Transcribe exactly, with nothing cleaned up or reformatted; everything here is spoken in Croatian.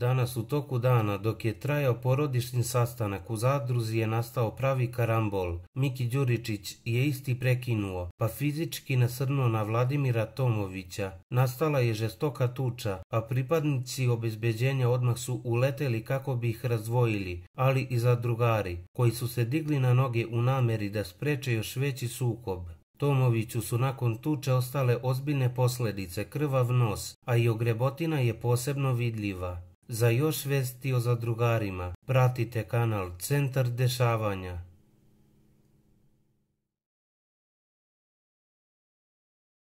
Danas u toku dana, dok je trajao porodični sastanak u zadruzi, je nastao pravi karambol. Miki Đuričić je isti prekinuo, pa fizički nasrnuo na Vladimira Tomovića. Nastala je žestoka tuča, a pripadnici obezbeđenja odmah su uleteli kako bi ih razdvojili, ali i zadrugari, koji su se digli na noge u nameri da spreče još veći sukob. Tomoviću su nakon tuče ostale ozbiljne posljedice, krvav nos, a i ogrebotina je posebno vidljiva. Za još vesti o zadrugarima pratite kanal Centar dešavanja.